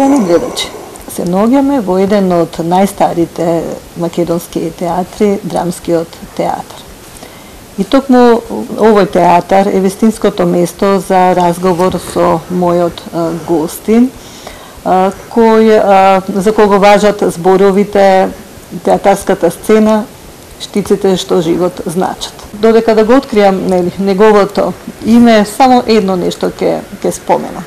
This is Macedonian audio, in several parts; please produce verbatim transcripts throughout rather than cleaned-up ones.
Почитувани гледачи, се наоѓаме во еден од најстарите македонски театри, Драмскиот театар. И токму овој театар е вистинското место за разговор со мојот гостин, кој, за кого важат зборовите, театарската сцена, штиците што живот значат. Додека да го откријам нели, неговото име, само едно нешто ќе ќе споменам.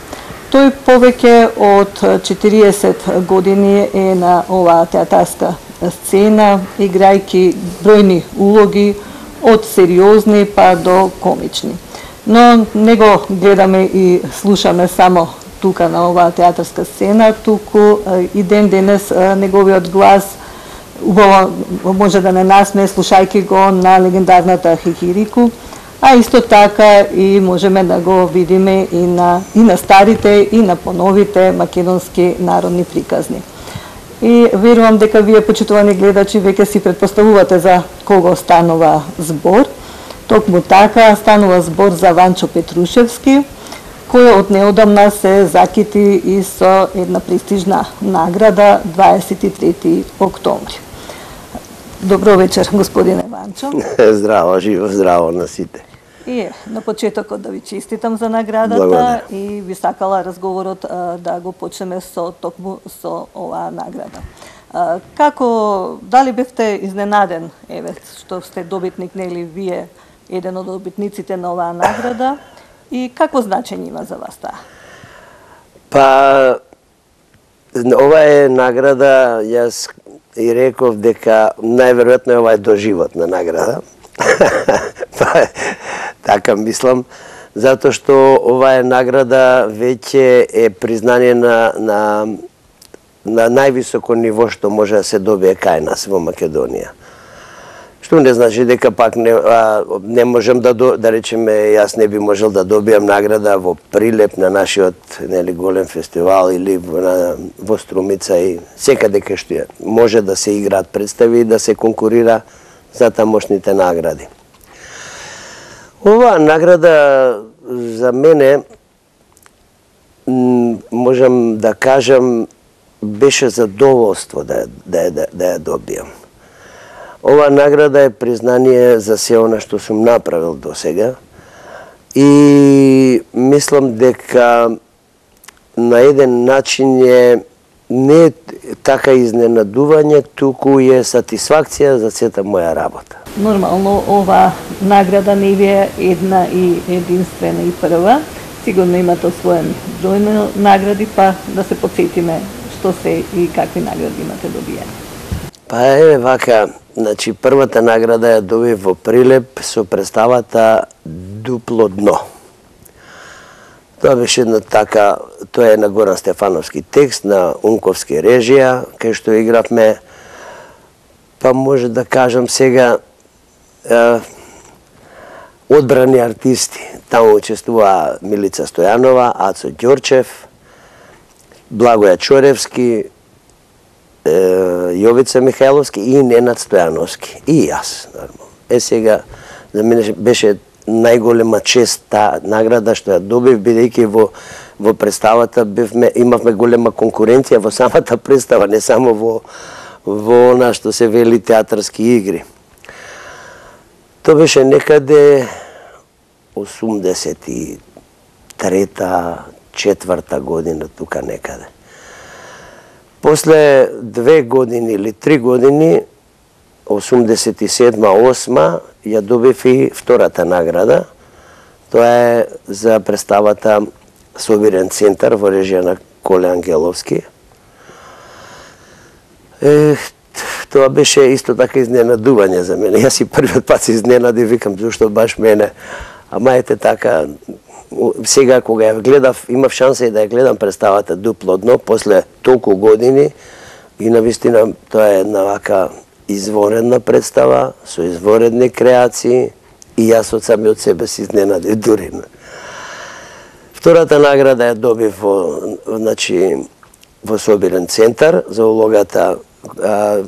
Тој повеќе од четириесет години е на оваа театарска сцена, играјќи бројни улоги, од сериозни па до комични. Но не го гледаме и слушаме само тука на оваа театарска сцена, туку и ден денес неговиот глас убаво може да не насмее слушајќи го на легендарната Хихирику, а исто така и можеме да го видиме и на, и на старите и на поновите македонски народни приказни. И верувам дека вие, почитувани гледачи, веќе си претпоставувате за кого станува збор. Токму така станува збор за Ванчо Петрушевски, кој од неодамна се закити и со една престижна награда дваесет и трети октомври. Добро вечер, господине Ванчо. Здраво, живо, здраво на сите. И на почетокот да ви честитам за наградата. Благодаря. И ви сакала разговорот а, да го почнеме со токму со оваа награда. А, како, дали бевте изненаден, еве, што сте добитник, нели вие, еден од добитниците на оваа награда, и какво значење има за вас таа? Па, ова е награда, јас и реков дека најверојатно ова е доживотна награда. Па, така мислам, затоа што ова е награда веќе е признание на, на, на највисоко ниво што може да се добие кај нас во Македонија. Што не значи дека пак не, а, не можем да, да речеме, јас не би можел да добијам награда во Прилеп на нашиот нели, голем фестивал или во, во Струмица и секаде кај што е. Може да се играат представи и да се конкурира за тамошните награди. Оваа награда за мене, можам да кажам, беше задоволство да, да, да, да ја добијам. Оваа награда е признание за се она што сум направил до сега и мислам дека на еден начин е не е така изненадување, туку е сатисфакција за сета моја работа. Нормално, ова награда не ви е една и единствена и прва. Сигурно имате освоен бројни награди, па да се подсетиме што се и какви награди имате добиени. Па е вака, значи првата награда ја добив во Прилеп со представата Дупло дно. Тоа беше една така, тоа е на Горан Стефановски текст, на Унковски режија, кај што игравме, па може да кажам сега, е, одбрани артисти. Таму учествува Милица Стојанова, Ацо Ѓорчев, Благоја Чоревски, е, Јовица Михајловски и Ненад Стојановски. И јас, нормално. Е сега, за мене беше најголема чест таа награда што ја добив, бидејќи во во представата бевме, имавме голема конкуренција во самата представа, не само во во она што се вели театарски игри. Тоа беше некаде осумдесет и трета, четврта година, тука некаде. После две години или три години, осумдесет и седма, осма, ја добив и втората награда. Тоа е за представата Собирен центар во режија на Коле Ангеловски. Е, тоа беше исто така изненадување за мене. Јас и првиот пат се изненадив, викам зашто баш мене. Ама ете така, сега кога ја гледав, имав шанса и да ја гледам представата Дупло дно после толку години и навистина тоа е една вака изворедна представа, со изворедни креации и јас од самиот себе се изненадив дури. Втората награда ја добив во, значи, во Собирен центар за улогата, а,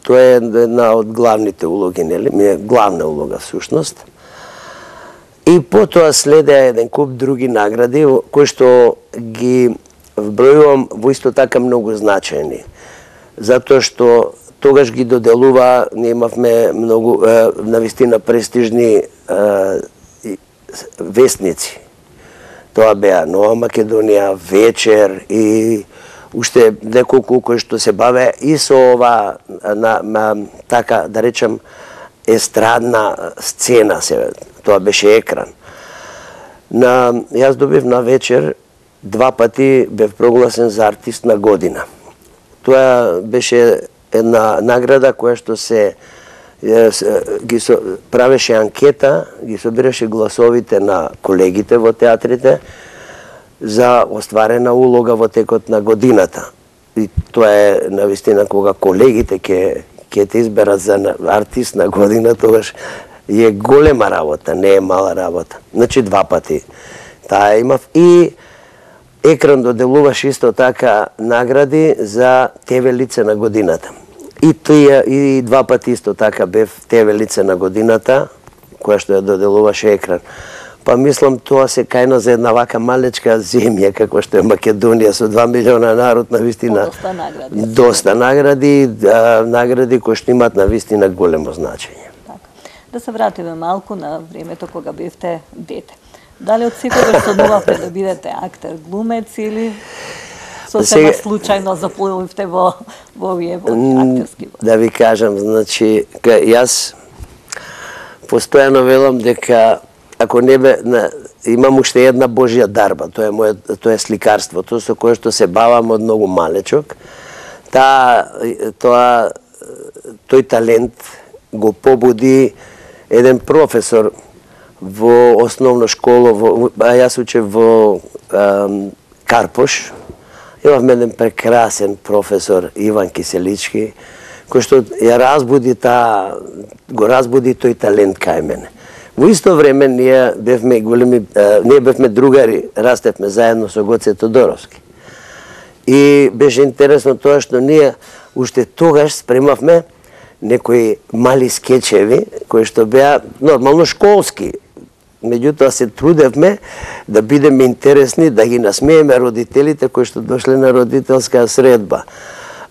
тоа е една од главните улоги, нели, ми е главна улога всушност. И потоа следеа еден куп други награди кои што ги вбројувам во исто така многу значајни. Затоа што тогаш ги доделува, ние имавме многу навистина престижни вестници. Тоа беа Нова Македонија, Вечер и уште неколку кои што се баве и со ова на, на така да речем естрадна сцена се, тоа беше екран. На јас добив на Вечер два пати бев прогласен за артист на година. Тоа беше една награда која што се ги со, правеше анкета, ги собираше гласовите на колегите во театрите за остварена улога во текот на годината. И тоа е навистина кога колегите ќе ќе те изберат за артист на година, тогаш е голема работа, не е мала работа. Значи два пати таа имав и екран доделуваше исто така награди за Те ве лице на годината. И тие и два пати исто така бев Те ве лице на годината, која што ја доделуваше екран. Па мислам тоа се кајна за една вака малечка земја како што е Македонија со два милиона народ, на вистина доста награди. Доста награди, а, награди кои што имаат на вистина големо значење. Така. Да се вратиме малку на времето кога бевте дете. Дали од секогаш сонувавте да бидете актер, глумец или сосема случајно заплувивте во во овие во актерски? Да ви кажам, значи јас постојано велам дека ако не бе, на, имам уште една Божја дарба, тоа е моје, тоа е сликарството со кое што се бавам од многу малечок. Та тоа тој талент го побуди еден професор во основна школа, во, а јас учев во ам, Карпош. Имавме еден прекрасен професор Иван Киселички, кој што ја разбуди та, го разбуди тој талент кај мене. Во исто време ние бевме големи, а, ние бевме другари, растевме заедно со Гоце Тодоровски. И беше интересно тоа што ние уште тогаш спремавме некои мали скечеви кои што беа нормално школски. Меѓутоа се трудевме да бидеме интересни, да ги насмееме родителите кои што дошле на родителска средба.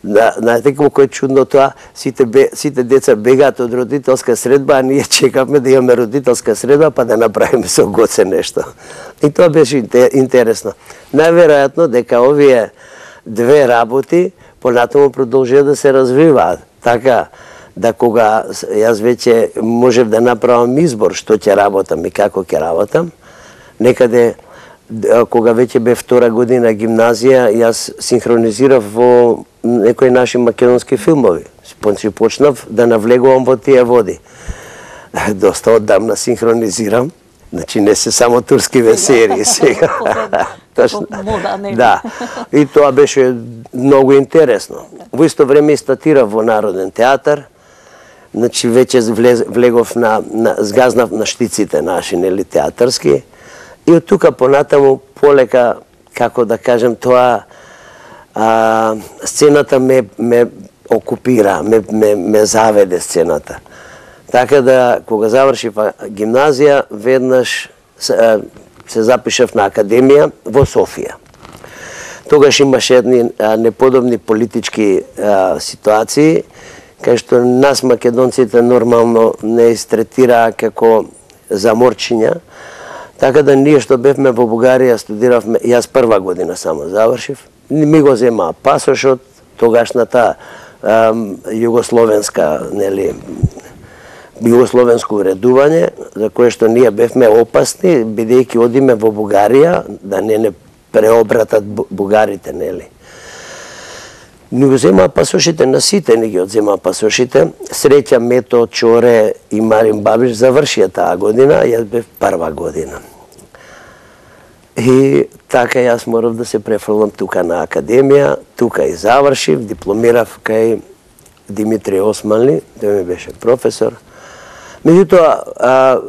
Да, знаете колку е чудно тоа, сите, бе, сите деца бегаат од родителска средба, а ние чекавме да имаме родителска средба па да направиме со Гоце нешто. И тоа беше интересно. Најверојатно дека овие две работи понатаму продолжија да се развиваат. Така да кога јас веќе можев да направам избор што ќе работам и како ќе работам, некаде кога веќе бе втора година гимназија, јас синхронизирав во некои наши македонски филмови. Пончи почнав да навлегувам во тие води. Доста одамна синхронизирам. Значи не се само турскиве серии сега. Да. И тоа беше многу интересно. Во исто време и статирав во Народен театар. Значи веќе влегов на, на згазнав на штиците наши, нели, театарски. И од тука понатаму полека, како да кажем, тоа а, сцената ме, ме окупира, ме, ме, ме заведе сцената. Така да, кога завршив гимназија, веднаш се, се запишав на академија во Софија. Тогаш имаше едни а, неподобни политички а, ситуации, кај што нас македонците нормално не истретираа како заморчиња. Така да ние што бевме во Бугарија студиравме, јас прва година само завршив, ми го земаа пасошот, тогашната ам, југословенска, нели, југословенско уредување, за кое што ние бевме опасни, бидејќи одиме во Бугарија, да не не преобратат бугарите, нели. Ни го земаа пасошите на сите, ни ги одземаа пасошите. Среќа Мето, Чоре и Марин Бабиш завршија таа година, јас бев прва година. И така јас морав да се префрлам тука на академија, тука и завршив, дипломирав кај Димитри Османли, тој ми беше професор. Меѓутоа,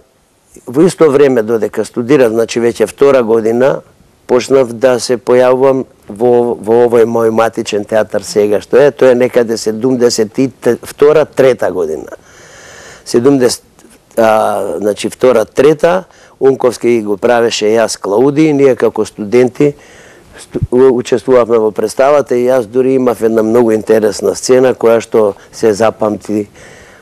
во исто време додека студирав, значи веќе втора година, почнав да се појавувам во, во овој мој матичен театар сега, што е, тоа е некаде седумдесет и втора трета година. седумдесет, а, значи втора трета, Унковски го правеше јас Клауди, и ние како студенти учествувавме во представата и јас дури имав една многу интересна сцена која што се запамти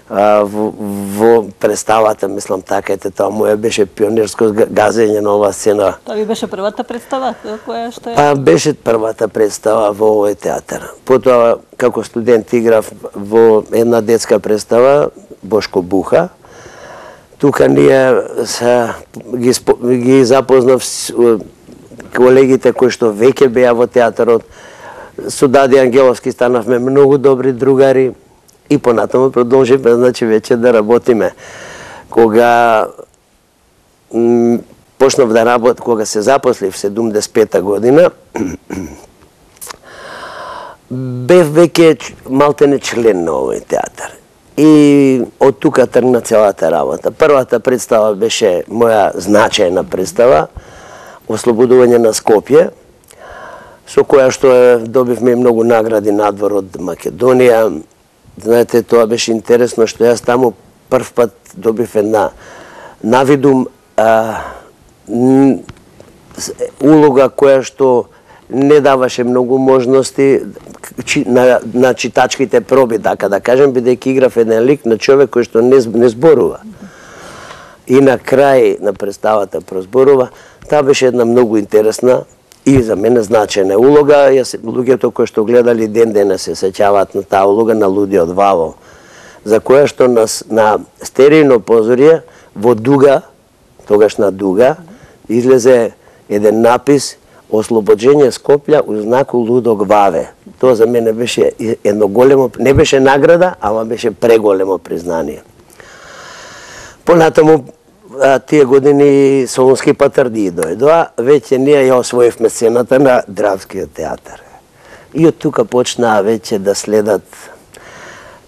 а, во, во представата, мислам така ете, тоа моја беше пионерско газење на оваа сцена. Тоа ви беше првата представа која што е? Па беше првата представа во овој театар. Потоа како студент играв во една детска представа Бошко Буха. Тука ние са, ги, ги запознав колегите кои што веќе беа во театарот. Со Дади Ангеловски станавме многу добри другари и понатаму продолживме, значи веќе да работиме. Кога почнав да работам, кога се запослив седумдесет и пета година, бев веќе малтене член на овој театар. И од тука тргна целата работа. Првата представа беше моја значајна представа, Ослободување на Скопје, со која што добивме многу награди надвор од Македонија. Знаете, тоа беше интересно што јас таму прв пат добив една навидум а, улога која што не даваше многу можности на, на читачките проби, така да кажем, бидејќи играв еден лик на човек кој што не, не зборува. И на крај на представата прозборува. Таа беше една многу интересна и за мене значајна улога. Јас, луѓето кои што гледали ден денес се сеќаваат на таа улога на Лудиот Вавол, за која што на, на стерејно позорие во Дуга, тогаш на Дуга, излезе еден напис Ослобоđenje Скопје у знаку Лудог Ваве. Тоа за мене беше едно големо, не беше награда, ама беше преголемо признание. Понатаму тие години Солунски Патарди дојдоа, веќе ние ја освоивме сцената на Драмскиот театар. И од тука почнаа веќе да следат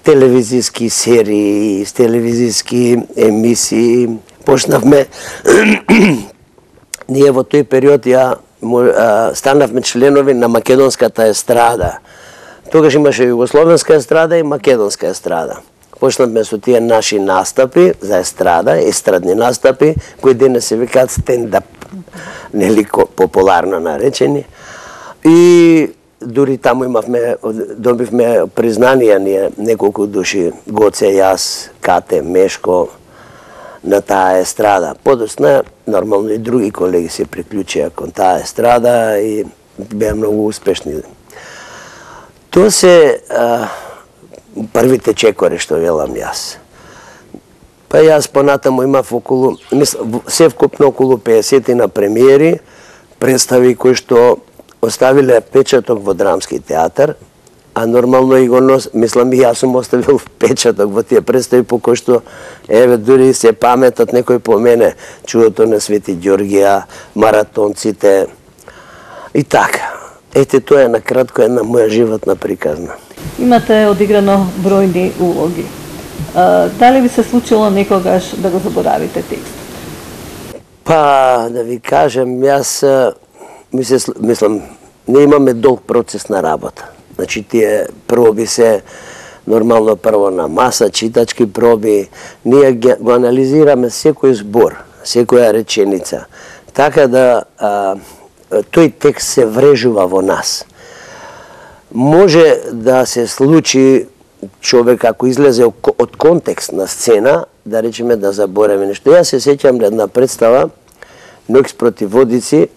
телевизиски серии, телевизиски емисии. Почнавме ние во тој период ја станавме членови на македонската естрада. Тогаш имаше југословенска естрада и македонска естрада. Почнавме со тие наши настапи за естрада, естрадни настапи, кои денес се викаат стендап, нели популарно наречени. И дури таму имавме, добивме признанија ние неколку души, Гоце, јас, Кате, Мешко, на таа естрада. Подосна, нормално и други колеги се приклучија кон таа естрада и беа многу успешни. Тоа се а, првите чекори што велам јас. Па јас понатаму имав околу, се вкупно околу пеесет на премиери, представи кои што оставиле печаток во Драмски театар, а нормално и го нос, мислам и јас сум оставил печаток во тие представи по кои што, еве, дури се паметат некој по мене, Чудото на Свети Ѓоргија, Маратонците и така. Ете, тоа е накратко една моја животна приказна. Имате одиграно бројни улоги. А, дали ви се случило некогаш да го заборавите текстот? Па, да ви кажем, јас, мислам, мислам, не имаме долг процес на работа. Значи, тие проби се нормално прво на маса, читачки проби. Ние го анализираме секој збор, секоја реченица. Така да а, тој текст се врежува во нас. Може да се случи човек ако излезе од контекст на сцена, да речеме да заборави нешто. Јас се сеќам на една представа, Ноќ против водици,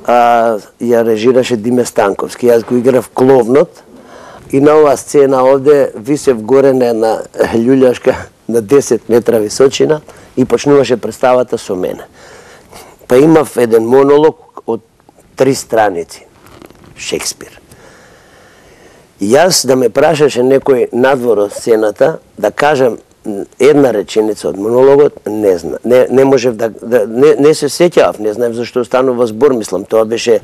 а, ја режираше Диме Станковски. Јас го играв кловнот и на оваа сцена овде висев горе на една љуљашка на десет метра височина и почнуваше представата со мене. Па имав еден монолог од три страници, Шекспир. Јас да ме прашаше некој надвор од сцената, да кажам една реченица од монологот, не зна, не, не можев да, да не, не се сеќавав, не знаев зашто станува збор, мислам, тоа беше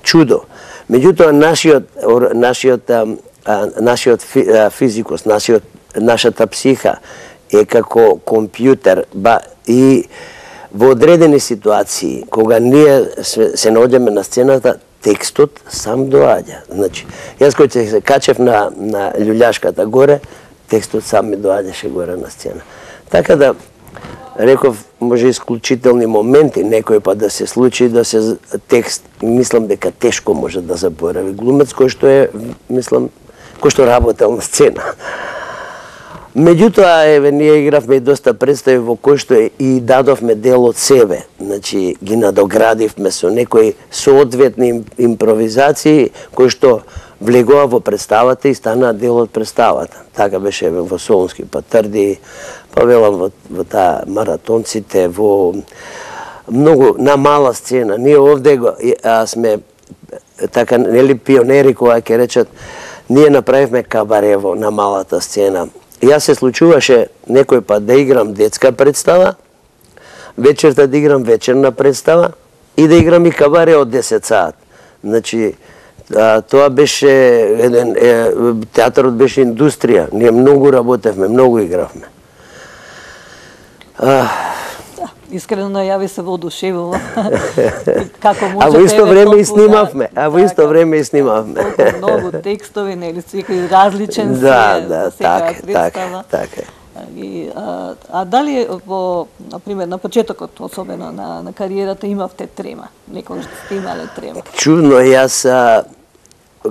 чудо. Меѓутоа нашиот нашиот а, нашиот физикус, нашиот нашата психа е како компјутер, ба и во одредени ситуации кога ние се, се наоѓаме на сцената, текстот сам доаѓа. Значи, јас кога се качев на на љуљашката горе, текстот сам ми доаѓаше горе на сцена. Така да реков, може исклучителни моменти, некој па да се случи да се текст, мислам дека тешко може да заборави глумец кој што е, мислам, кој што работел на сцена. Меѓутоа, еве, ние игравме и доста представи во кој што и дадовме дел од себе. Значи, ги надоградивме со некои соодветни импровизации кои што влегува во представата и станаа дел од представата. Така беше еве, во Солунски патарди, па велам во, во таа маратонците, во многу на мала сцена. Ние овде го, а, сме така нели пионери кои ќе речат, ние направивме кабарево на малата сцена. Јас се случуваше некој пат да играм детска представа, вечерта да играм вечерна представа и да играм и кабаре од десет саат. Значи, а, тоа беше еден е, театарот беше индустрија. Ние многу работевме, многу игравме. А, Искрено ја ви се воодушевува. Како можете... А во исто време и снимавме, а во исто време и снимавме. Толку многу текстови, нели, секој различен си да, е да, за секоја така, представа. така, така. И, а, а дали во, например, на почетокот, особено на, на кариерата, имавте трема? Некој сте имале трема? Чудно, јас, а,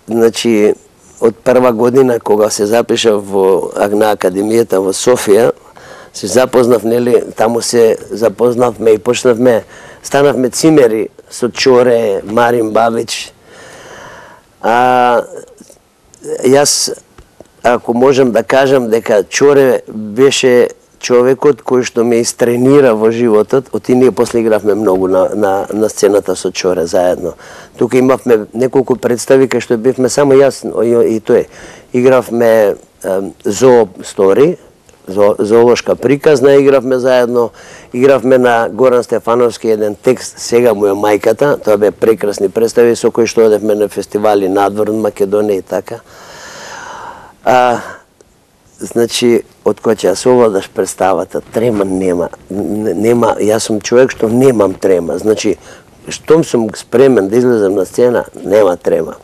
значи, од прва година кога се запишав во на Академијата во Софија, се запознав, нели, таму се запознавме и почнавме, станавме цимери со Чоре, Марин Бабич. А, јас, ако можам да кажам дека Чоре беше човекот кој што ме истренира во животот, оти ние после игравме многу на, на, на сцената со Чоре заедно. Тука имавме неколку представи кај што бевме само јас и, и тој. Игравме Зоо стори, зоолошка приказна игравме заедно, игравме на Горан Стефановски еден текст Сега му е мајката, тоа бе прекрасни представи со кои што одевме на фестивали надвор од Македонија и така. А, значи, од кога ќе се овладаш представата, трема нема, нема, јас сум човек што немам трема, значи, штом сум спремен да излезам на сцена, нема трема.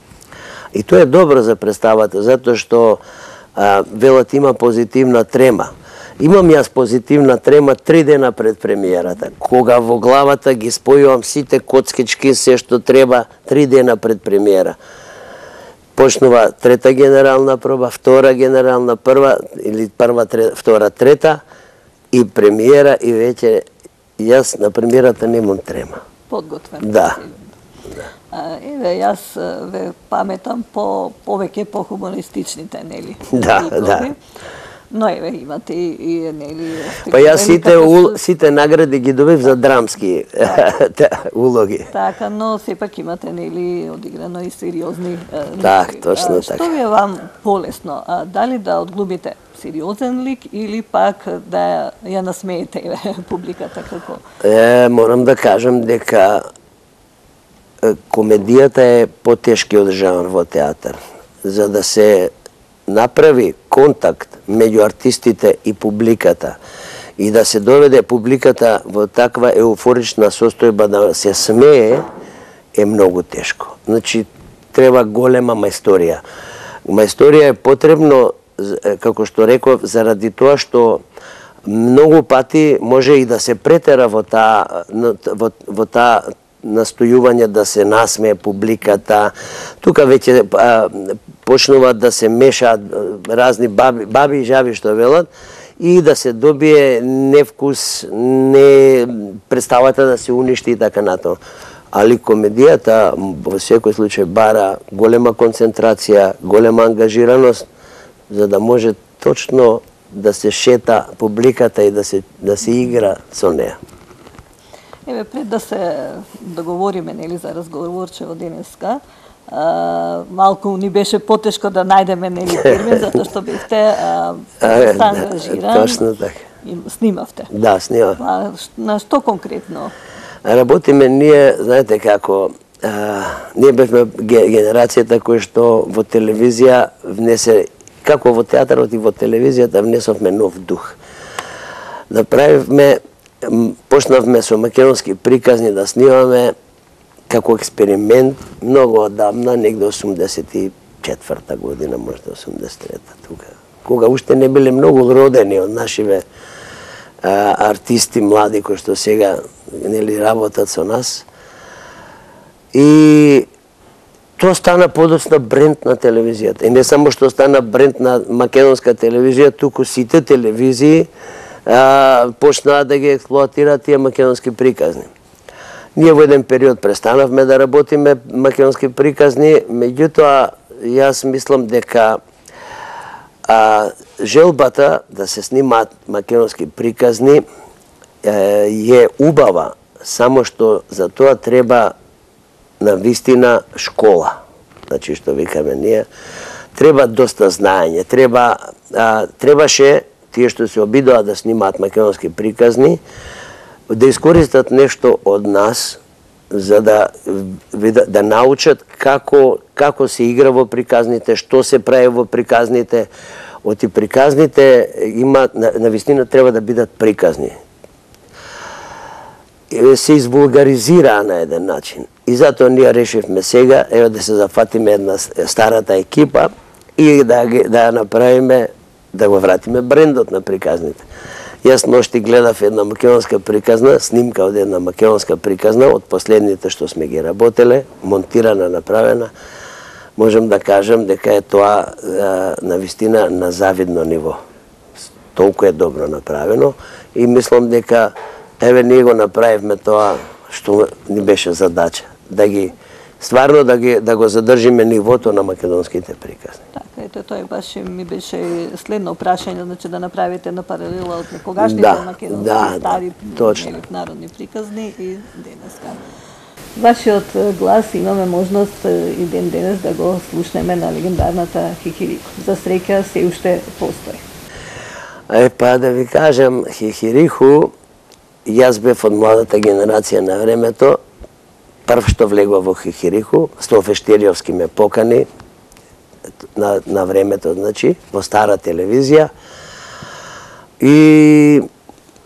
И тоа е добро за представата, затоа што а, велат има позитивна трема. Имам јас позитивна трема три дена пред премиерата, кога во главата ги спојувам сите коцкички, се што треба, три дена пред премиера. Почнува трета генерална проба, втора генерална прва, или прва, трета, втора, трета, и премиера, и веќе јас на премиерата немам трема. Подготвен. Да. А, еве, јас ве паметам по повеќе по хумористичните, нели? Да, игрови. да. Но еве имате и, и нели... Па јас сите, ул, сите награди ги добив за драмски улоги. Така, но сепак имате нели одиграно и сериозни ликови. Так, точно така. Што ви е вам полесно? А, дали да одглумите сериозен лик или пак да ја насмеете публиката како? Е, морам да кажам дека комедијата е потешкиот жанр во театар. За да се направи контакт меѓу артистите и публиката и да се доведе публиката во таква еуфорична состојба да се смее, е многу тешко. Значи, треба голема мајсторија. Мајсторија е потребно, како што реков, заради тоа што многу пати може и да се претера во таа во, во таа настојување да се насмее публиката. Тука веќе почнуваат да се мешаат разни баби, баби и жаби што велат и да се добие невкус, не представата да се уништи и така нато. Али комедијата во секој случај бара голема концентрација, голема ангажираност за да може точно да се шета публиката и да се да се игра со неа. Еве, пред да се договориме нели за разговорчево денеска, а, малку ни беше потешко да најдеме нели термин затоа што бевте доста ангажиран. Точно така. И снимавте. Да, снимав. А, на што конкретно? Работиме ние, знаете како, а, ние бевме генерацијата која што во телевизија внесе, како во театарот и во телевизијата внесовме нов дух. Направивме, почнавме со македонски приказни да снимаме како експеримент многу одамна, негде осумдесет и четврта година, можда осумдесет и трета тука. Кога уште не биле многу родени од нашиве а, артисти млади кои што сега нели работат со нас. И тоа стана подоцна бренд на телевизијата. И не само што стана бренд на македонска телевизија, туку сите телевизии а, почнаа да ги експлоатираат тие македонски приказни. Ние во еден период престанавме да работиме македонски приказни, меѓутоа јас мислам дека а, желбата да се снимаат македонски приказни е, е убава, само што за тоа треба на вистина школа. Значи што викаме ние, треба доста знаење, треба а, требаше тие што се обидоа да снимаат македонски приказни да искористат нешто од нас за да да, да научат како како се игра во приказните, што се прави во приказните. Оти приказните има на, на вистина треба да бидат приказни. Се извулгаризираа на еден начин. И затоа ние решивме сега ево да се зафатиме една старата екипа и да да направиме да го вратиме брендот на приказните. Јас ношти гледав една македонска приказна, снимка од една македонска приказна од последните што сме ги работеле, монтирана, направена. Можам да кажам дека е тоа на вистина на завидно ниво. Толку е добро направено и мислам дека еве ние го направивме тоа што ни беше задача, да ги стварно да ги да го задржиме нивото на македонските приказни. Така, ето тоа баш ми беше следно прашање, значи да направите една паралела од некогашните да, македонски да, стари точно. народни приказни и денеска. Вашиот глас имаме можност и ден денес да го слушнеме на легендарната Хихирико. За среќа се уште постои. Е, па да ви кажам, Хихириху, јас бев од младата генерација на времето, прв што влегува во Хихириху, Стофештериовски ме покани на, на времето, значи, во стара телевизија. И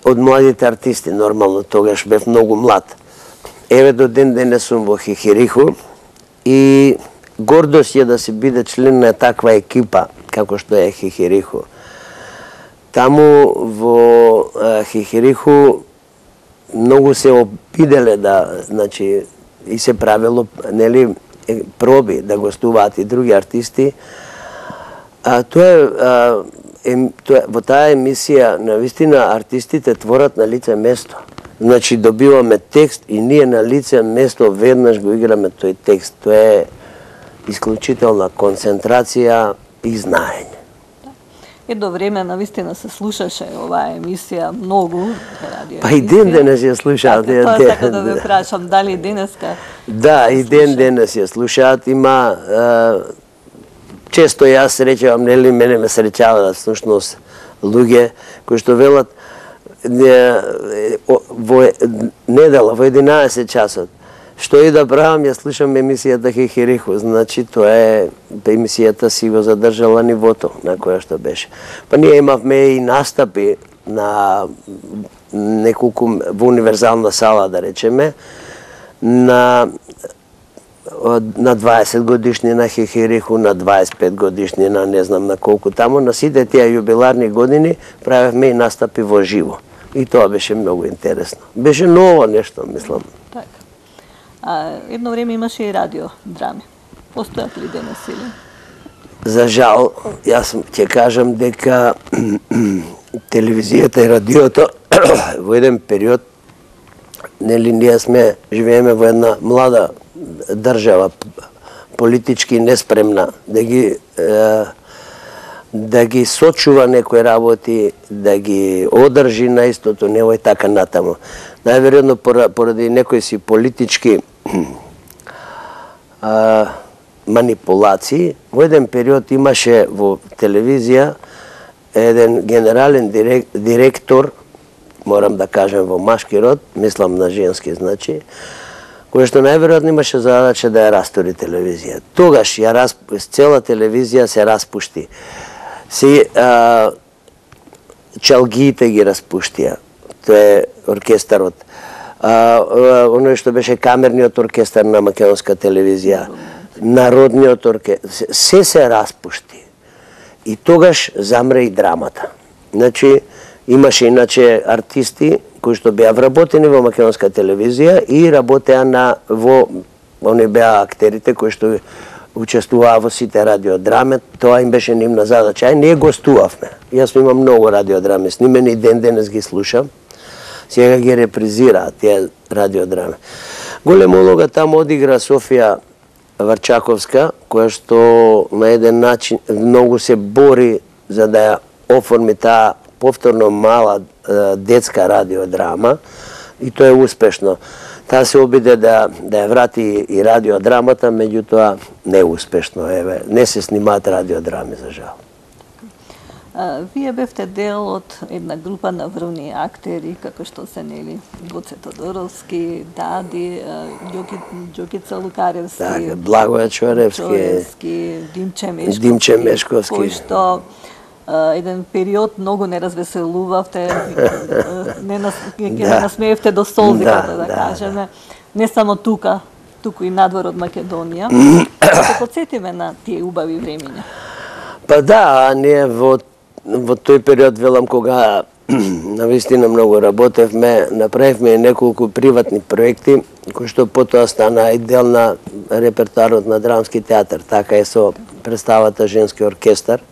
од младите артисти, нормално, тогаш бев многу млад. Еве до ден денес сум во Хихириху и гордост е да се биде член на таква екипа, како што е Хихириху. Таму во Хихириху многу се обиделе да, значи, и се правило, нели, проби да гостуваат и други артисти. А тоа е, а, е тоа, во таа емисија, навистина, артистите творат на лице место. Значи, добиваме текст и ние на лице место веднаш го играме тој текст. Тоа е исклучителна концентрација и знаење. Едно време навистина се слушаше оваа емисија многу радио. Па и ден денес ја слушаат. Така, тоа сакам да ве прашам, дали денеска? Да, и ден денес ја слушаат. Има е, често јас среќавам, нели мене ме среќаваат всушност луѓе кои што велат не, во недела во единаесет часот. Што и да правам, ја слушам емисијата Хихириху, значи тоа е емисијата си го задржала нивото на која што беше. Па ние имавме и настапи на неколку во универзална сала, да речеме, на на дваесет годишни на Хихириху, на дваесет пет годишни на не знам на колку таму, на сите тие јубиларни години правевме и настапи во живо. И тоа беше многу интересно. Беше ново нешто, мислам. Така. А едно време имаше и радио драми. Постојат ли денес или? За жал, јас ќе кажам дека телевизијата и радиото во еден период, нели ние сме живееме во една млада држава, политички неспремна, да ги е, да ги сочува некои работи, да ги одржи на истото ниво и така натаму. Најверојатно поради некои си политички а, манипулации, во еден период имаше во телевизија еден генерален дирек, директор, морам да кажем во машки род, мислам на женски, значи, кој што најверојатно имаше задача да ја растори телевизија. Тогаш ја расп... цела телевизија се распушти. Се а, чалгиите ги распуштија. Тоа е оркестарот. А, оној што беше камерниот оркестар на македонска телевизија, народниот оркестар, се се распушти. И тогаш замре и драмата. Значи, Имаше иначе артисти кои што беа вработени во македонска телевизија и работеа на во они беа актерите кои што учествуваа во сите радиодрами, тоа им беше нивна задача. И ние гостувавме. Јас имам многу радиодрами снимени и ден денес ги слушам. Сега ги репризираат тие радиодрами. Голема улога таму одигра Софија Варчаковска, која што на еден начин многу се бори за да ја оформи таа повторно мала детска радиодрама и тоа е успешно. Таа се обиде да да ја врати и радиодрамата, меѓутоа не е успешно, еве, не се снимаат радиодрами за жал. А, вие бевте дел од една група на врвни актери, како што се нели Гоце Тодоровски, Дади, Ѓоки, Ѓокица Лукаревски, така, Благоја Чоревски, Чоревски, Димче Мешковски, Димче Мешковски, кој што Uh, еден период многу не развеселувавте, не нас, да. насмеевте до солзи, да, да, да кажеме, не само тука, туку и надвор од Македонија. Се подсетиме на тие убави времиња. Па да, а ние во, во тој период, велам, кога навистина многу работевме, направивме неколку приватни проекти, кои што потоа стана и дел на репертуарот на Драмски театар, така е со представата Женски оркестар,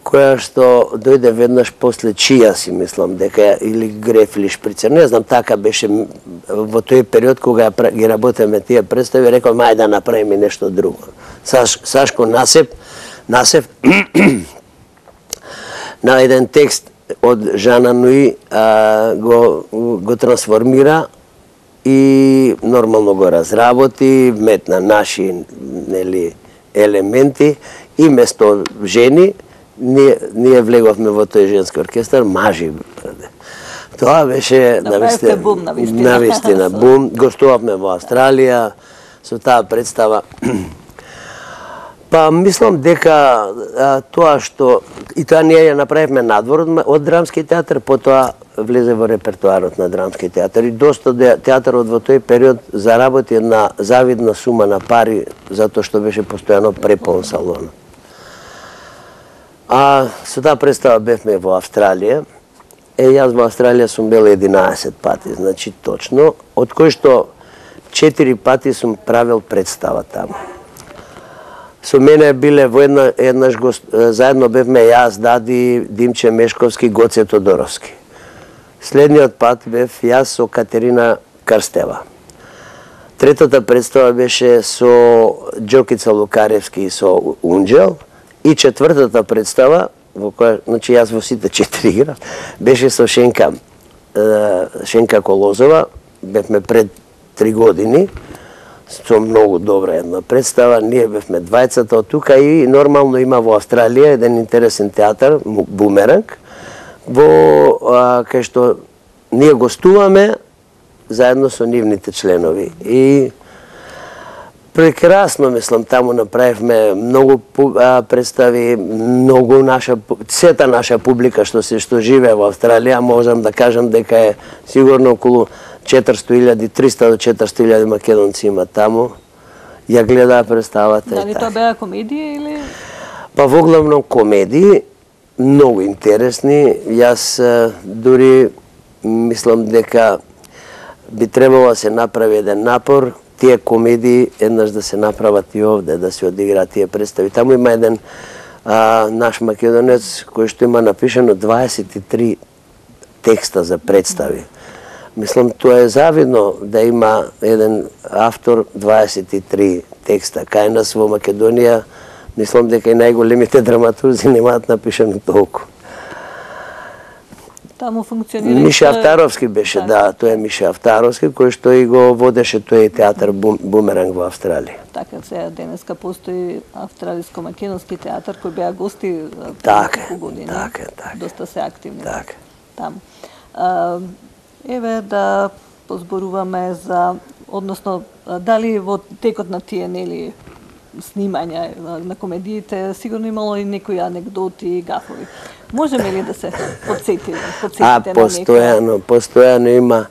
која што дојде веднаш после Чија, си мислам, дека или Греф или Шприцер, не знам, така беше во тој период кога ги работеме тие представи, рекол, мај да направиме нешто друго. Саш, Сашко Насеп, Насеп на еден текст од Жана Нуи а, го, го трансформира и нормално го разработи, метна наши нели, елементи и место жени, Ние, ние влеговме во тој женски оркестар, мажи. Тоа беше навистина бум, навистина. навистина бум. Гостувавме во Австралија со таа представа. Па мислам дека а, тоа што и тоа ние ја направивме надвор од, од Драмски театар, потоа влезе во репертуарот на Драмски театар и доста театарот во тој период заработи една завидна сума на пари затоа што беше постојано препон салонот. А со таа представа бевме во Австралија. Е, јас во Австралија сум бил единаесет пати, значи точно, од кои што четири пати сум правил представа таму. Со мене биле во една, еднаш гост, заедно бевме јас, Дади, Димче Мешковски, Гоце Тодоровски. Следниот пат бев јас со Катерина Карстева. Третата представа беше со Ѓокица Лукаревски и со Унџел. И четвртата представа, во која, значи јас во сите четири играв, беше со Шенка, Шенка Колозова, бевме пред три години, со многу добра една представа, ние бевме двајцата од тука и нормално има во Австралија еден интересен театар, Бумеранг, во а, кај што ние гостуваме заедно со нивните членови. И прекрасно, мислам, таму направивме многу а, представи, многу наша, сета наша публика што се што живее во Австралија, можам да кажам дека е сигурно околу четиристотини илјади, триста до четиристотини илјади македонци има таму. Ја гледаа представата. Дали тоа беа комедии или? Па воглавно комедии, многу интересни. Јас дури мислам дека би требало да се направи еден напор тие комедии еднаш да се направат и овде, да се одиграат тие представи. Таму има еден а, наш македонец кој што има напишано дваесет и три текста за представи. Мислам, тоа е завидно да има еден автор дваесет и три текста. Кај нас во Македонија, мислам дека и најголемите драматурзи немаат напишано толку. Таму функционира Миша Автаровски беше, да, тоа е Миша Автаровски, кој што и го водеше тој театар Бумеранг во Австралија. Така, сега денеска постои австралиско-македонски театар кој беа гости така, години. Така, така. Доста се активни така. таму. А, еве да позборуваме за, односно, дали во текот на тие нели снимања на комедиите сигурно имало и некои анекдоти и гафови. Можеме ли да се подсетиме, подсетите а, на постојано, постојано има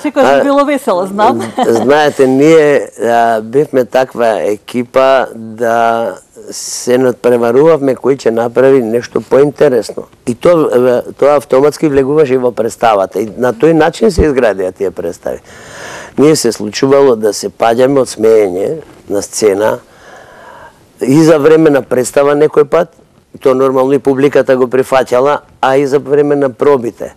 Секојаш би било весело, знам. Знаете, ние а, бевме таква екипа да се надпреварувавме кој ќе направи нешто поинтересно. И тоа тоа автоматски влегуваше и во представата. И на тој начин се изградија тие представи. Ние се случувало да се паѓаме од смеење на сцена и за време на представа некој пат, тоа нормално и публиката го прифаќала, а и за време на пробите.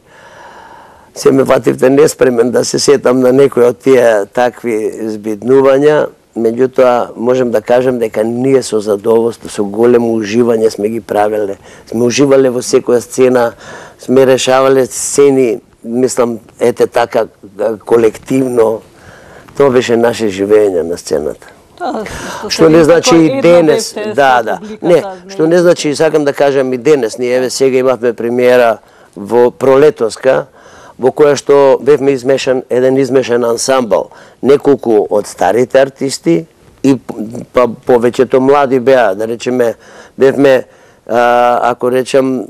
Се ме фативте неспремен да се сетам на некој од тие такви збиднувања, меѓутоа можем да кажем дека ние со задоволство, со големо уживање сме ги правеле. Сме уживале во секоја сцена, сме решавале сцени, мислам, ете така колективно. Тоа беше наше живење на сцената. Што не значи и денес, да, да. Не, што не значи, сакам да кажам и денес, ние еве сега имавме премиера во Пролетоска, во која што бевме измешан, еден измешан ансамбл, неколку од старите артисти и па повеќето млади беа, да речеме, бевме, а, ако речем,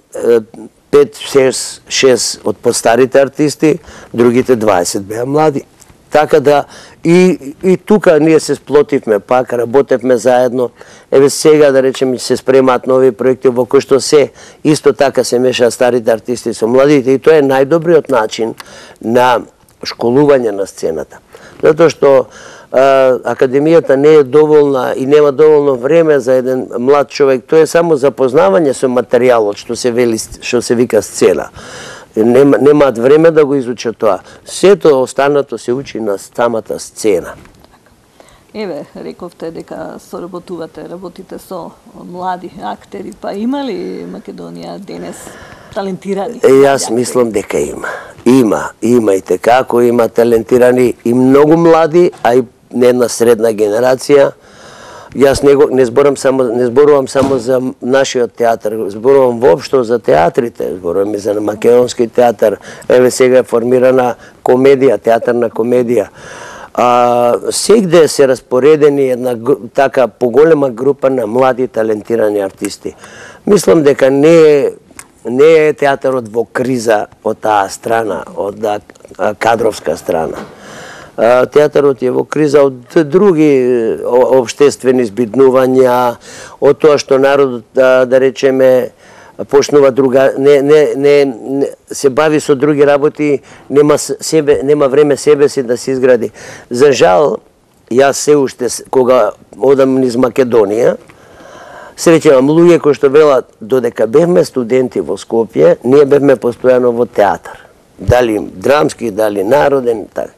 пет шест од постарите артисти, другите дваесет беа млади. Така да и, и тука ние се сплотивме пак, работевме заедно. Еве сега да речеме се спремаат нови проекти во кои што се исто така се мешаат старите артисти со младите и тоа е најдобриот начин на школување на сцената. Затоа што а, академијата не е доволна и нема доволно време за еден млад човек, тоа е само запознавање со материјалот што се вели, што се вика сцена. Нема, немаат време да го изучат тоа. Сето останато се учи на самата сцена. Еве, рековте дека соработувате, работите со млади актери, па има ли Македонија денес талентирани? Е, јас мислам дека има. Има, има и како има талентирани и многу млади, а и не една средна генерација. Јас не, го, не, зборам само, не зборувам само за нашиот театар, зборувам воопшто за театрите, зборувам и за македонски театар. Еве сега е формирана комедија, театарна комедија. А, сегде се распоредени една така поголема група на млади талентирани артисти. Мислам дека не е, не е театарот во криза од таа страна, од кадровска страна. Театарот е во криза од други општествени збиднувања, од тоа што народот, да, да речеме, почнува друга, не, не, не, не се бави со други работи, нема себе, нема време себе си да се изгради. За жал, јас се уште кога одам низ Македонија, среќавам луѓе кои што велат додека бевме студенти во Скопје, ние бевме постојано во театар. Дали драмски, дали народен, така.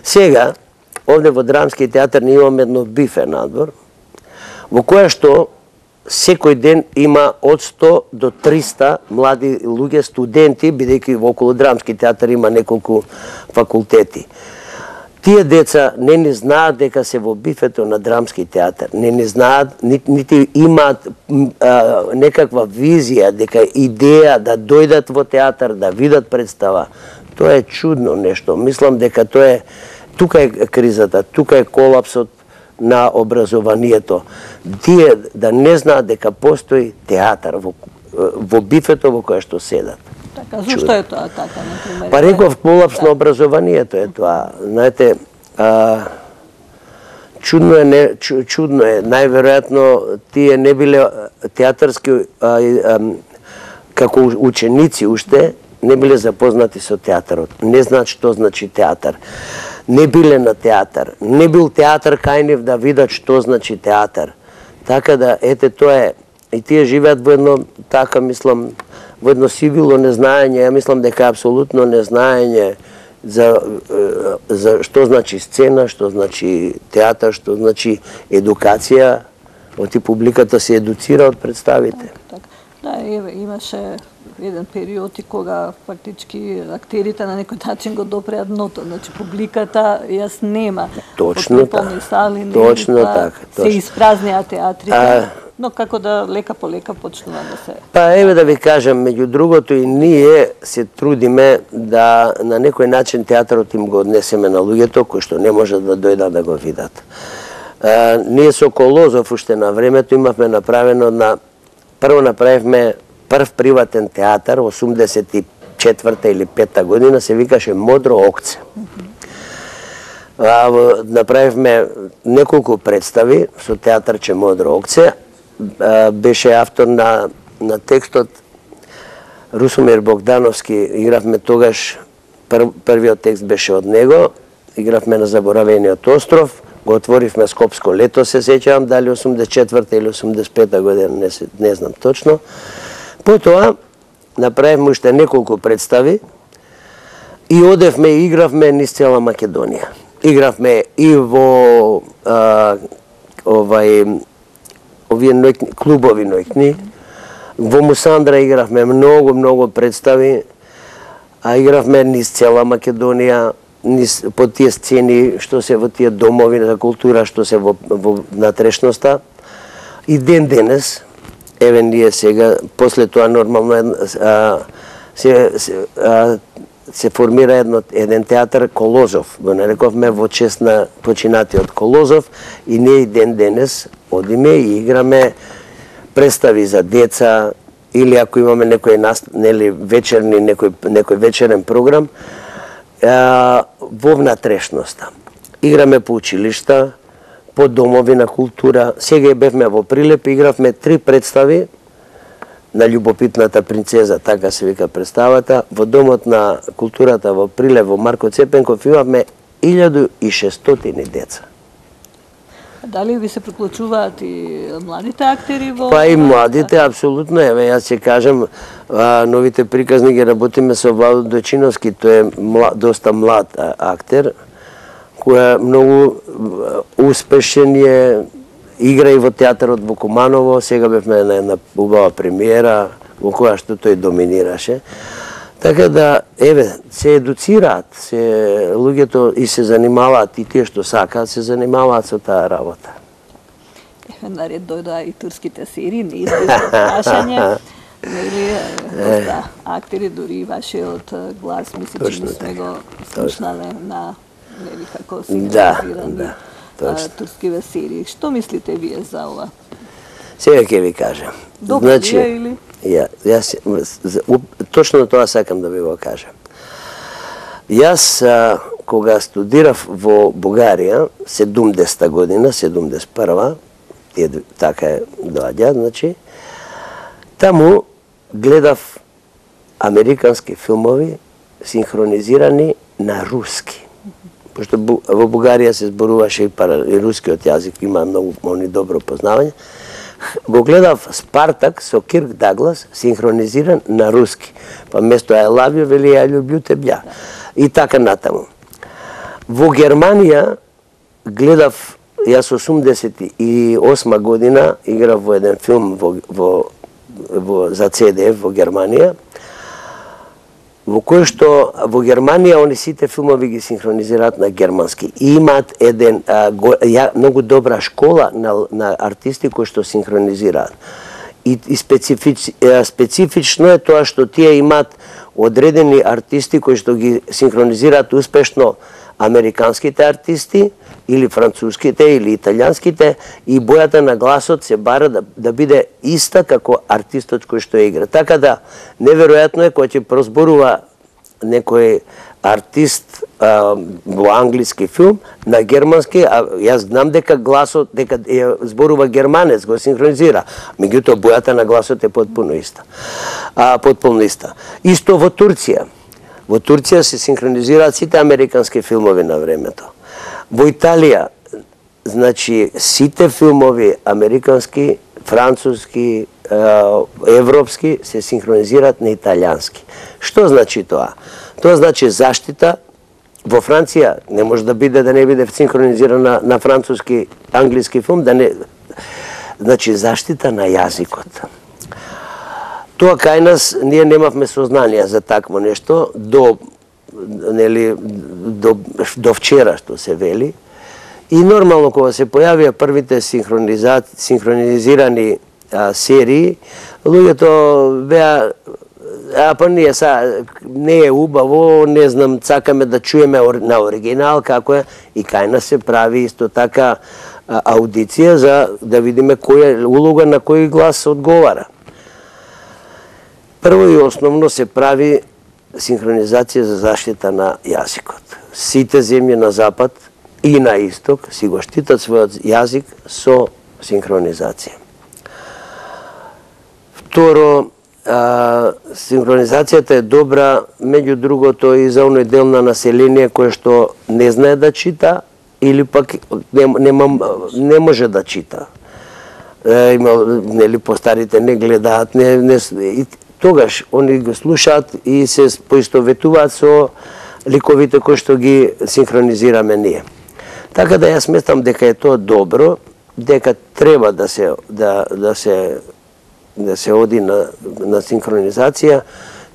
Сега, овде во Драмски театар ние имаме едно бифе надвор, во која што секој ден има од сто до триста млади луѓе, студенти, бидејќи во околу Драмски театар има неколку факултети. Тие деца не ни знаат дека се во бифето на Драмски театар, не ни знаат, нити, нити имаат а, некаква визија, дека идеја да дојдат во театар, да видат представа. Тоа е чудно нешто. Мислам дека тоа е, тука е кризата, тука е колапсот на образованието. Тие да не знаат дека постои театар во, во бифето во кое што седат. Така, зашто е тоа така, например? Па реков колапс на образованието е тоа. Знаете, а, чудно е, не, чудно е, најверојатно тие не биле театарски, а, а, како ученици уште, не биле запознати со театарот. Не знаат што значи театар. Не биле на театар. Не бил театар кај нив да видат што значи театар. Така да, ете, тоа е. И тие живеат во едно, така мислам, во едно сивило незнаење. Ја мислам дека апсолутно незнаење за, за што значи сцена, што значи театар, што значи едукација. Оти публиката се едуцира од представите. Так, так. Да, еве, имаше еден период и кога фактички актерите на некој начин го допреа дното, значи публиката јас нема. Точно така. Сали, точно така. Се испразнеа театрите, а... но како да лека по лека почнува да се... Па еве да ви кажам, меѓу другото и ние се трудиме да на некој начин театарот им го однесеме на луѓето кои што не можат да дојдат да го видат. А, ние со Колозов уште на времето имавме направено на... Прво направивме прв приватен театар, осумдесет и четврта или пета година, се викаше Модро Окце. А, направивме неколку представи со театарче Модро Окце. А, беше автор на, на текстот Русомир Богдановски. Игравме тогаш, пр, првиот текст беше од него. Игравме на Заборавениот остров. Го отворивме Скопско лето, се сеќавам, дали осумдесет и четврта или осумдесет и пета година, не, се, не знам точно. Потоа направивме уште неколку представи и одевме и игравме низ цела Македонија. Игравме и во а, овај овие ноќни, клубови ноќни. Во Мусандра игравме многу, многу представи, а игравме низ цела Македонија, низ, по тие сцени што се во тие домови за култура што се во, во натрешноста. И ден денес, еве ние сега, после тоа нормално а, се, се, а, се формира едно, еден театар Колозов, го нарековме во чест на починатиот Колозов, и ние и ден денес одиме и играме представи за деца, или ако имаме некој нели вечерни некој некој вечерен програм а, во внатрешноста. Играме по училишта, по домови на култура. Сега бевме во Прилеп, игравме три представи на Љубопитната принцеза, така се вика представата, во Домот на културата во Прилеп, во Марко Цепенков, имавме илјаду и шестстотини деца. Дали ви се приклучуваат и младите актери во... Па и младите, апсолутно. Еве, јас ќе кажам, а, новите приказни ги работиме со Владо Дојчиновски, тој е млад, доста млад а, актер, кој е многу успешен е, игра и во театарот во Куманово, сега бевме на една убава премиера, во која што тој доминираше. Така да, еве, се едуцираат, се луѓето и се занимаваат, и тие што сакаат, се занимаваат со таа работа. Еве, наред дојдоа и турските серии, неизбежно прашање. Нели, доста актери, дури и вашиот глас, мисля, че сме го слушнале на, нели, како синхронизирани да, да, турскиве серии. Што мислите вие за ова? Сега ќе ви кажам. Добро значи, вие или? Ја, јас, точно тоа сакам да ви го кажам. Јас, а, кога студирав во Бугарија, седумдесета година, седумдесет и прва, така е доаѓа, значи, таму гледав американски филмови синхронизирани на руски. Пошто во Бугарија се зборуваше и, пара, и рускиот јазик, има многу они добро познавање. Го гледав Спартак со Кирк Даглас синхронизиран на руски. Па место I love you вели I люблю тебја. И така натаму. Во Германија гледав, јас осумдесет и осма година играв во еден филм во, во, во, за Це Де Еф во Германија, во кој што во Германија они сите филмови ги синхронизираат на германски. И имаат еден а, го, ја, многу добра школа на, на артисти кои што синхронизираат. И, и специфич, специфично е тоа што тие имаат одредени артисти кои што ги синхронизираат успешно американските артисти, или француските, или италијанските, и бојата на гласот се бара да, да биде иста како артистот кој што игра. Така да, неверојатно е кога ќе прозборува некој артист а, во англиски филм на германски, а јас знам дека гласот, дека е, зборува германец, го синхронизира. Меѓутоа, бојата на гласот е потпуно иста. А, потпуно иста. Исто во Турција. Во Турција се синхронизираат сите американски филмови на времето. Во Италија, значи, сите филмови американски, француски, европски се синхронизираат на италијански. Што значи тоа? Тоа значи заштита. Во Франција не може да биде да не биде синхронизирана на француски, англиски филм, да не, значи заштита на јазикот. Тоа кај нас ние немавме сознание за такво нешто до нели до до вчера што се вели. И нормално кога се појавија првите синхронизирани а, серии, луѓето беа а па ние са не е убаво, не знам, сакаме да чуеме на оригинал како е, и кај нас се прави исто така а, аудиција за да видиме која улога на кој глас одговара. Прво и основно се прави синхронизација за заштита на јазикот. Сите земји на Запад и на исток си го штитат својот јазик со синхронизација. Второ, а, синхронизацијата е добра, меѓу другото и за оној дел на население кој што не знае да чита или пак не, не, не може да чита. Е, има, нели, постарите не гледаат, не, не, и тогаш они го слушаат и се поистоветуваат со ликовите кои што ги синхронизираме ние. Така да јас сметам дека е тоа добро, дека треба да се да да се да се оди на на синхронизација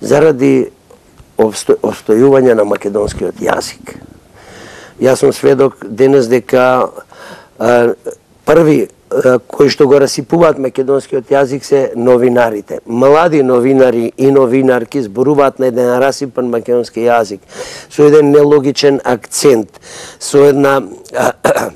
заради обсто, обстојување на македонскиот јазик. Јас сум сведок денес дека а, први а, кои што го расипуваат македонскиот јазик се новинарите. Млади новинари и новинарки зборуваат на еден расипан македонски јазик со еден нелогичен акцент, со една а, а,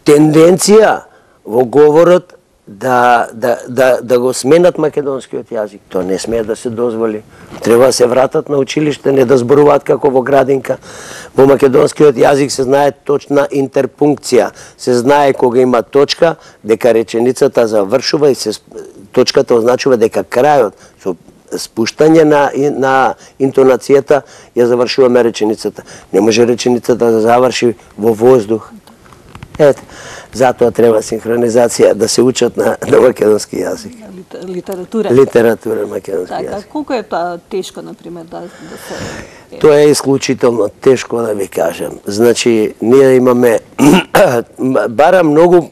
тенденција во говорот да, да, да, да го сменат македонскиот јазик. Тоа не смее да се дозволи. Треба да се вратат на училиште, не да зборуваат како во градинка. Во македонскиот јазик се знае точна интерпункција. Се знае кога има точка, дека реченицата завршува и се, точката означува дека крајот, со спуштање на, на интонацијата, ја завршуваме реченицата. Не може реченицата да заврши во воздух. Ето, затоа треба синхронизација, да се учат на, на македонски јазик. Литература. Литература македонски така, јазик. Колку е тоа тешко, например, да, да се... Тоа е исклучително тешко, да ви кажам. Значи, ние имаме барам многу,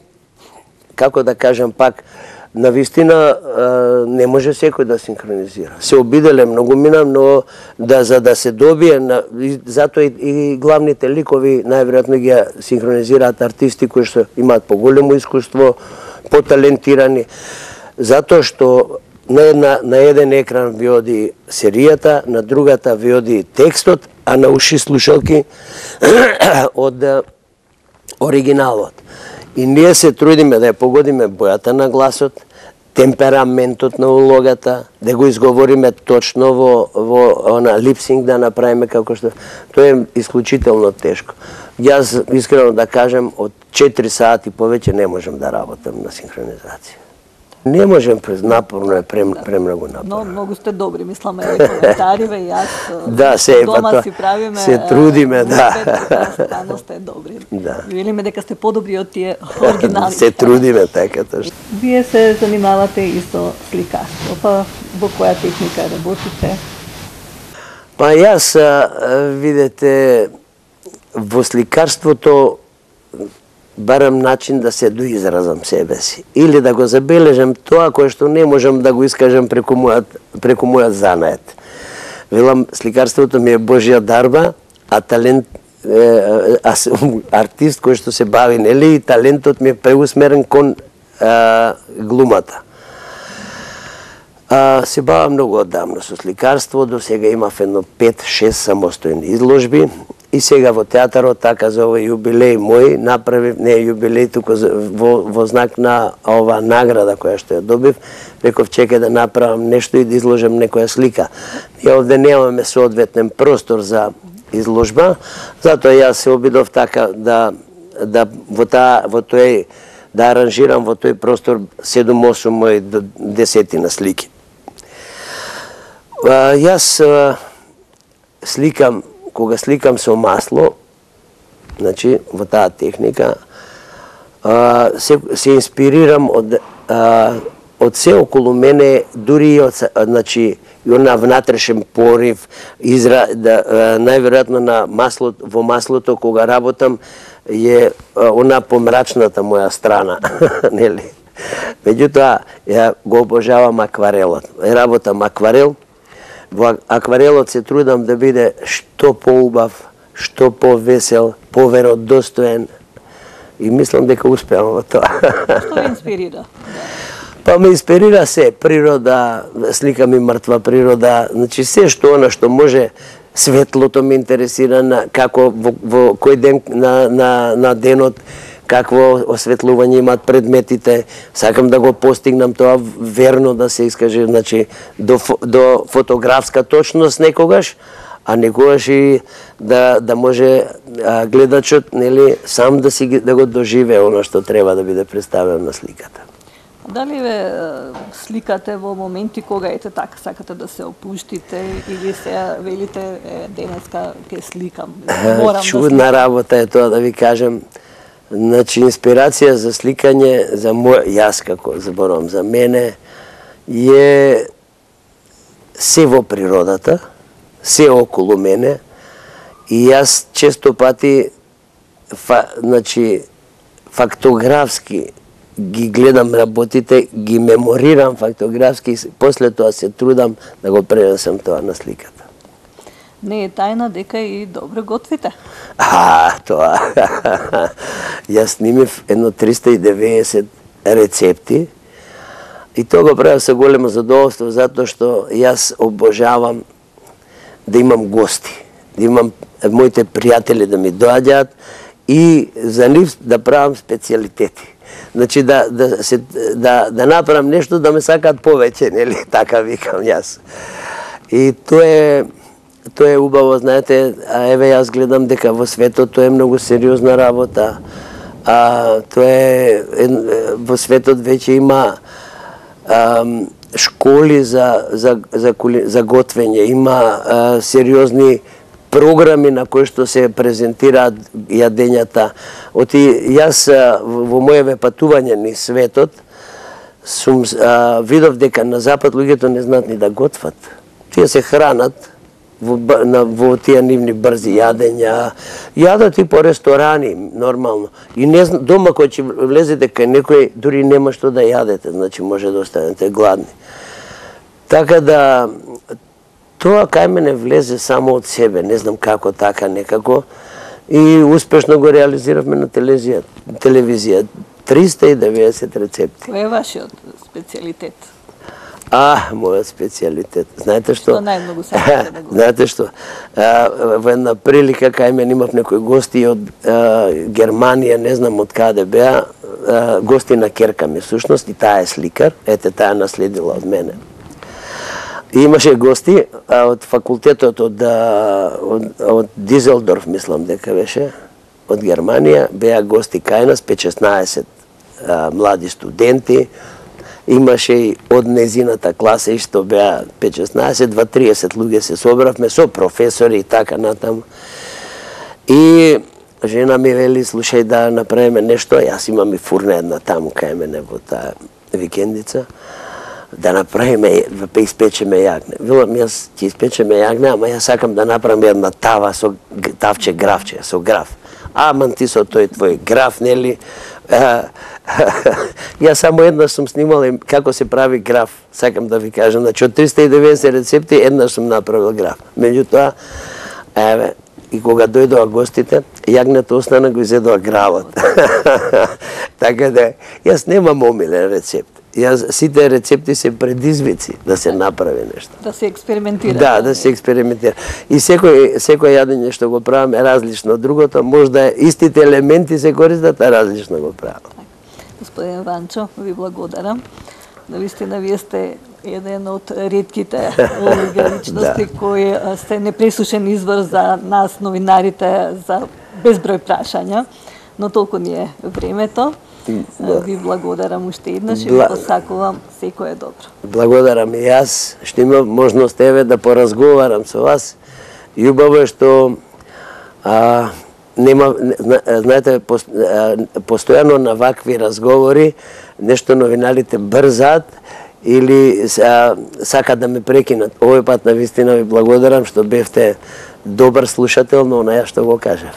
како да кажам пак, на вистина не може секој да синхронизира. Се обиделе многу мина, но да за да се добие, затоа и, и главните ликови најверојатно ги синхронизираат артисти кои што имаат поголемо искуство, поталентирани, затоа што на, една, на еден екран ви оди серијата, на другата ви оди текстот, а на уши слушалки од оригиналот. И ние се трудиме да ја погодиме бојата на гласот, темпераментот на улогата, да го изговориме точно во, во она липсинг да направиме како што... Тоа е исклучително тешко. Јас, искрено да кажем, од четири сати повеќе не можам да работам на синхронизација. Не можем, напорно е, прем, премногу напорно. Но многу сте добри, мислам, е коментариве и јас да, се, дома па, си правиме... Се трудиме, да. Стано сте добри. Да. Велиме дека сте подобри од тие оригинални. Се трудиме, така точно. Вие се занимавате и со сликарство, па во која техника работите? Па јас, видете, во сликарството барам начин да се доизразам себе си или да го забележам тоа кое што не можам да го искажам преку мојот преку мојот занает. Велам, сликарството ми е Божја дарба, а талент е, а, артист кој што се бави, нели, и талентот ми е преусмерен кон а, глумата. А, се бавам многу оддавно со сликарство, до сега имав едно пет-шест самостојни изложби. И сега во театарот, така за овој јубилеј мој, направив, не јубилеј, туку во, во знак на ова награда која што ја добив, реков чекај да направам нешто и да изложам некоја слика. Ние овде немаме соодветен простор за изложба, затоа јас се обидов така да да во таа во тој да аранжирам во тој простор седум-осум мои до десетина слики. А, јас а, сликам кога сликам со масло, значи во таа техника, а, се, се инспирирам од а, од се околу мене, дури и од, значи, и она внатрешен порив, изра, да, најверојатно на маслото, во маслото кога работам е она помрачната моја страна, нели? Меѓутоа, ја го обожавам акварелот. Работам акварел. Во акварелот се трудам да биде што поубав, што повесел, поверодостоен и мислам дека успеам во тоа. Што ви инспирира? Па ме инспирира се, природа, слика ми мртва природа, значи се што она што може, светлото ме интересира, на, како во, во кој ден на, на, на денот, какво осветлување имаат предметите, сакам да го постигнам тоа верно да се искаже, значи до, до фотографска точност некогаш, а некогаш и да да може а, гледачот, нели, сам да си да го доживее она што треба да биде представено на сликата. Дали ве сликате во моменти кога ете така сакате да се опуштите или се велите е, денеска ќе сликам? Морам Чудна да работа е тоа, да ви кажем. Значи, инспирација за сликање, за мој, јас како зборувам за мене, е се во природата, се околу мене, и јас често пати фа, значи, фактографски ги гледам работите, ги меморирам фактографски и после тоа се трудам да го пренесам тоа на сликата. Не е тајна дека и добро готвите. А, тоа. Јас снимив едно триста и деветдесет рецепти и тоа го правам со големо задоволство, затоа што јас обожавам да имам гости, да имам моите пријатели да ми доаѓаат и за нив да правам специјалитети. Значи да да се да да направам нешто да ме сакаат повеќе, нели, така викам јас. И тоа е тоа е убаво, знаете, а еве јас гледам дека во светот тоа е многу сериозна работа. А тоа е, е во светот веќе има а, школи за за за, за готвење, има а, сериозни програми на кои што се презентираат јадењата. Оти јас во моеве патување низ светот сум а, видов дека на запад луѓето не знаат ни да готват. Тие се хранат во, на, во тие нивни брзи јадења, јадат и по ресторани нормално. И не дома кој ќе влезете кај некој дури нема што да јадете, значи може да останете гладни. Така да тоа кај мене влезе само од себе, не знам како така некако, и успешно го реализиравме на телевизија. телевизија. триста и деветдесет рецепти. Кој е вашиот специјалитет? А, мојот специјалитет. Знаете што? Што најмногу сакате да го? Знаете што? А, во една прилика кај мене имав некои гости од а, Германија, не знам од каде беа, а, гости на керка ми всушност, и таа е сликар, ете таа наследила од мене. И имаше гости а, од факултетот од, од, од Дизелдорф, мислам дека беше, од Германија, беа гости кај нас, пет-шеснаесет а, млади студенти, имаше и од незината класа и што беа пет-шеснаесет, два-триесет луѓе се собравме со професори и така натаму. И жена ми вели, слушај да направиме нешто, јас имам и фурна една таму кај мене во таа викендица, да направиме, да испечеме јагне. Велам, јас ќе испечеме јагне, ама јас сакам да направам една тава со тавче графче, со граф. Аман ти со тој твој граф, нели? Јас само еднаш сум снимал како се прави граф, сакам да ви кажам. Значи, од триста и деветдесет рецепти, еднаш сум направил граф. Меѓутоа, еве, и кога дојдоа гостите, јагнето остана, го изедоа гравот. Така да, јас немам омилен рецепт. Јас, сите рецепти се предизвици да се направи нешто. Да се експериментира. Да, да се експериментира. И секој секој јадење што го правам е различно од другото, можда истите елементи се користат, а различно го правам. Господин Ванчо, ви благодарам. Навистина вие сте еден од ретките личности Да. кои сте непресушен извор за нас новинарите за безброј прашања, но толку ни е времето. Ви благодарам уште еднаш и ви Бла- посакувам секое добро. Благодарам и јас што имав можност еве да поразговарам со вас. И убаво е што а, нема, зна- знаете, пос- а, постојано на вакви разговори нешто новинарите брзаат или а, сакат да ме прекинат. Овој пат навистина ви благодарам што бевте добар слушател на онаја што го кажав.